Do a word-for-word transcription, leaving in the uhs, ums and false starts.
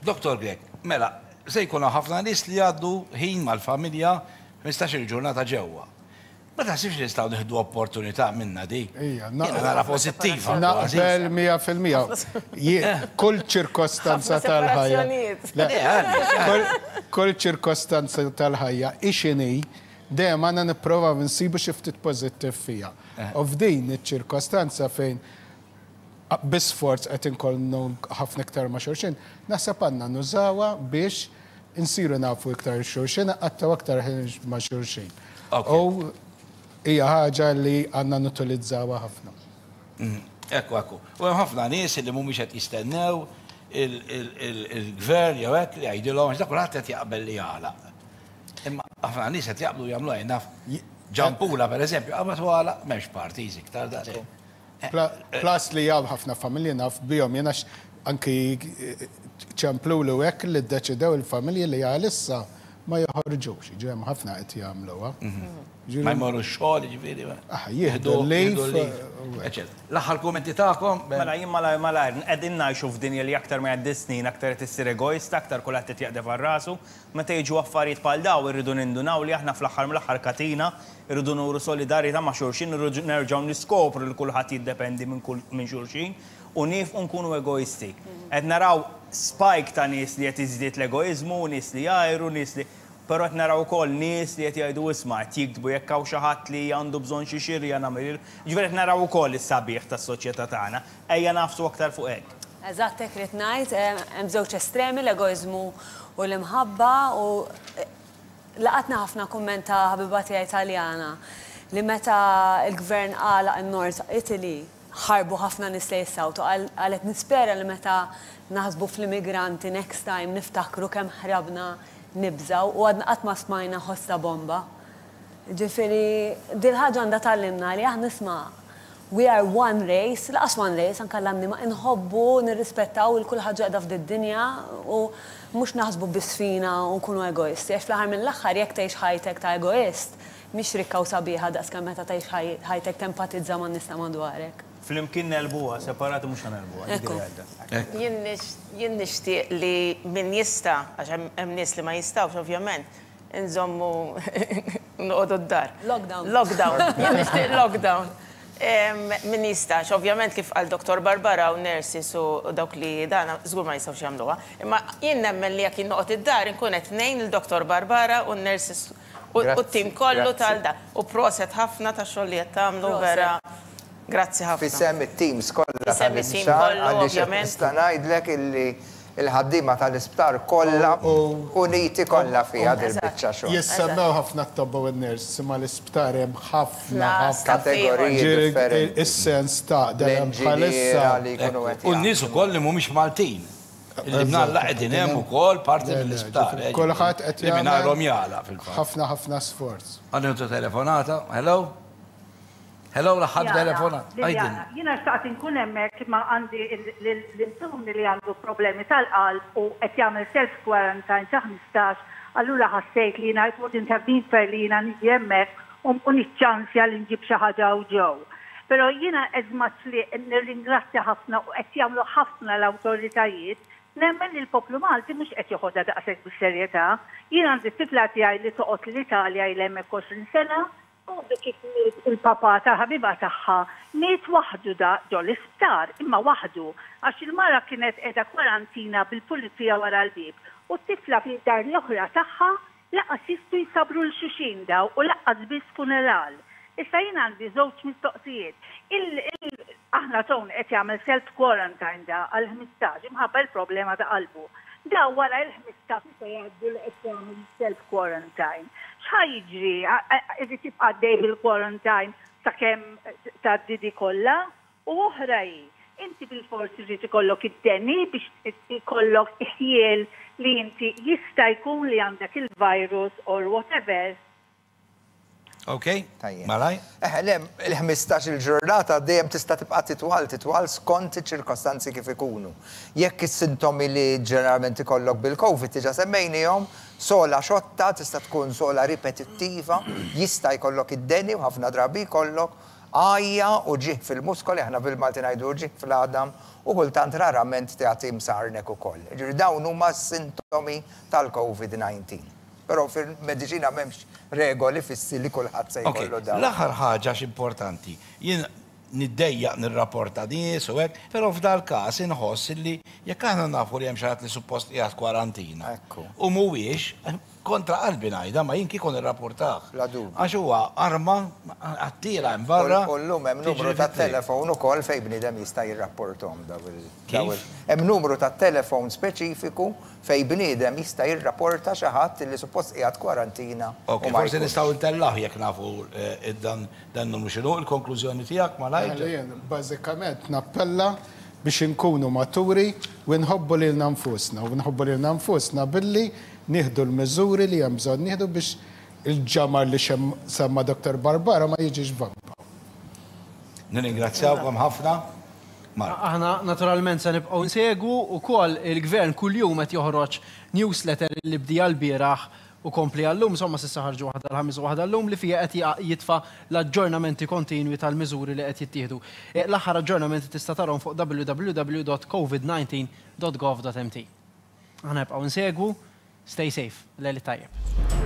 Doktor Grech, mela, se jkunu ħafna nies li għaddu ħin mal-familja ħmistax-il ġurnata ġewwa. Ma taħsibx li nistgħu nieħdu opportunità minna di? Ija, Jiena nara pożittiva. Naqbel mija fil-mija. Kull ċirkostanza Ħafna tal-ħajja. separazzjonijiet. Le, kull- Kull ċirkostanza tal-ħajja, ixini, dejjem għandna nipprova nsibu xi ftit pożittiv fija. U f'din iċ-ċirkostanza fejn bi sforz qed inkollu ħafna iktar ma' xulxin, naħseb għandna nużawha biex insiru nafu iktar xulxin, għattaw aktar ħin ma' xulxin. Ok. U hija ħaġa li għandna nutilizzawha ħafna. Ekku, ekku. U hemm ħafna nies li mhumiex qed jistennew il- il- il- il-gvern jew hekk li jgħidilhom, għax dak kulħadd qed jaqbel li jagħlaq. Imma ħafna nies qed jaqblu jagħmlu, jien naf Ġampula, per eżempju, qabad għalaq, m'hemmx parties iktar da. Pla- Plus li hawn ħafna familji naf bihom jiena x- anki ċemplu li hekk li ddeċidew il-familji li għalissa ma joħorġux, ġi hemm ħafna qed jagħmluha. Ġifieri- Ma jmorru x-xogħol, ġifieri. Ah, jieħdu l-leave, u hekk. Eċċetera. L-aħħar kummenti tagħkom. Mela, jien malajr malajr, qegħdin ngħixu f'dinja li aktar ma jgħaddi snin, aktar qed issir egoista, aktar kulħadd qed jaqdef għal rasu. Meta jiġu affarijiet bħal daw, irridu nindunaw li aħna fl-aħħar mill-aħħar katina, irridu nuru solidarjetà ma' xulxin, irridu nerġgħu niskopru li kulħadd jiddependi minn kull minn xulxin u nieqfu nkunu egoisti. Qed naraw spike ta' nies li qed iżdied l-egoizmu, nies li jgħiru, nies li, però qed naraw ukoll nies li qed jgħidu, isma', qed jiktbu jekk hawn xi ħadd li għandu bżonn xi xirja nagħmel. Ġifieri qed naraw ukoll is-sabiħ tas-soċjetà tagħna. Ejja nagħfsu aktar fuq hekk. Eżatt, hekk rid ngħid, eh, hemm żewġ estremi, l-egoiżmu u l-imħabba, u eh, laqatna ħafna kumment ta' ħabiba tiegħi Italjana li meta il-gvern għalaq in-North Italy ħarbu ħafna nies li jissawtu. Qalet, "Nispera li meta naħsbu fl-immigranti next time niftakru kemm ħrabna nibżaw u għadna qatt ma smajna ħoss ta' bomba." Ġifieri, dil-ħaġa għandha tgħallimna li aħna, isma', we are one race, lanqas one race, anka l-annima inħobbu, nirrispettaw il-kull ħaġa qiegħda f'did-dinja u mhux naħsbu biss fina u nkunu egoisti. Għax fl-aħħar mill-aħħar, jekk tgħix ħajtek ta' egoist, mhix rikka u sabiħa daqs kemm meta tgħix ħaj- ħajtek tempatizza man nies ta' madwarek. Flimkien negħlbuha, separati mhux ħa negħlbuha. Ekku. Jien nix- Jien nixtieq li min jista', għax hemm hemm nies li ma jistgħux ovvjament, nżommu noqogħdu d-dar. Lockdown. Lockdown. Jien nixtieq lockdown. Em, Min jistax, ovvjament, kif qal Doktor Barbara u nurses u dawk li dana żgur ma jistgħux jagħmluha. Imma jien nemmen li jekk jien noqgħod id-dar inkun qed ngħin il-Doktor Barbara u n-nurses u Grazzi, t-tim kollu grazzi. tal-da. U proset ħafna ta' xogħol li qed tagħmlu, Proset. vera. Grazzi ħafna. F'isem it-teams kollha F'isem it-team tal-isptar, kollu, għaliex ovvjament. nista' ngħidlek illi il-ħaddiema tal-isptar kollha uniti kollha fiha dil-biċċa xogħol. Jissemmew ħafna t-tobba u n-nurse, ma l-isptar hemm ħafna Na, ħafna. Kategoriji Ġifieri, differenti. is-sens ta' dejjem L-inġiniera bħalissa. li jkunu qed U n-nies ukoll li mhumiex Maltin. Li mnalla qegħdin hemm ukoll parti Le, le, mill-isptar. ġifieri, kulħadd qed Li mingħajrhom jagħmel jagħlaq fil-fatt. ħafna ħafna sforz. Għandna telefonata, hello? Hello, l-aħħar telefonata. Liliana, jiena xtaqt inkun hemmhekk, ma għandi l-intuni li għandu problemi tal-qalb u qed jagħmel self quarantine ta' ħmistax, allura ħassejt li jiena it wouldn't have been fair li jiena niġi hemmhekk u u niċċansja li nġib xi ħaġa u ġew. Però jiena, as much li nirringrazzja ħafna u qed jagħmlu ħafna l-awtoritajiet, nemmen li l-poplu Malti mhux qed joħodha daqshekk bis-serjetà. Jien għandi t-tifla tiegħi li toqgħod l-Italja, ilha hemmhekk għoxrin sena, u kif miet il-papa ta' ħabiba tagħha, miet waħdu da ġo l-isptar, imma waħdu, għax il-mara kienet qiegħda kwarantina bil-pulizija wara l-bib. U t-tifla fid-dar l-oħra tagħha, lanqas jistgħu jsabru 'l xulxin daw u lanqas biss funeral. Issa jien għandi żewġ mistoqsijiet. Il, il, aħna Tony qed jagħmel self quarantine da għal ħmistax imħabba l-problema ta' qalbu. Da wara il-ħmistax se jgħaddu li qed jagħmel self quarantine. X'ħa jiġri? Irid jibqa' għaddej bil-quarantine sakemm tgħaddi di kollha? U oħra hi, inti bil-forsi irid ikollok id-deni biex ikollok ħjiel li inti jista' jkun li għandek il-virus or whatever? Ok, Tajjeb. Malaj? Eh, le, il-ħmistax il-ġurnata dejjem tista' tibqa' titwal, titwal skont iċ-ċirkostanzi kif ikunu. Jekk is-sintomi li ġeneralment ikollok bil-Covid diġà semmejnihom, sogħla xotta, tista' tkun sogħla ripetittiva, jista' jkollok id-deni u ħafna drabi jkollok. Għajja, uġigħ fil-muskoli, aħna bil-Malti ngħidu uġigħ fl-għadam, u kultant rarament tagħti msarnek ukoll. Ġifieri dawn huma sintomi tal-COVID disa. Però fil-mediċina m'hemmx regoli fissi li kulħadd se jkollu dawn. L-aħħar ħaġa importanti, jien niddejjaq nirrapporta nies u hekk, però f'dal każ inħoss li jekk aħna nafu li hemm xi ħadd li suppost qiegħed kwarantina. U mhuwiex, kontra qalbi ngħidha, ma jien kieku nirrapportah. Għax huwa arma għattira hemm barra. U llum hemm numru ta' telefon ukoll fejn bniedem jista' jirrapportom daw il. Hemm numru ta' telefon speċifiku fejn bniedem jista' jirrapporta xi ħadd li suppost qiegħed kwarantina. Ok, forsi nistgħu ntellgħuh jekk nafu eh, dan dan numru x'inhu. Il-konklużjoni tiegħek malajr. Bażikament nappella biex inkunu maturi u nħobbu lilna nfusna u nħobbu lilna nfusna billi nieħdu l-miżuri li hemm bżonn nieħdu biex il-ġamar li semma Doktor Barbara ma jiġix vampa. Nirringrazzjawkom ħafna. Aħna naturalment se nibqgħu nsegwu ukoll. Il-gvern kuljum qed joħroġ newsletter li bdieha l-bieraħ u kompli għal-lum, insomma s'issa ħarġu waħda l-Ħamis u waħda l-lum li fija qed jitfa l-aġġornamenti kontinwi tal-miżuri li qed jittieħdu. E, l-aħħar aġġornamenti tista' tarahom fuq W W W dot covid nineteen dot gov dot M T. Aħna nibqgħu nsegwu, stay safe, lejl tajjeb.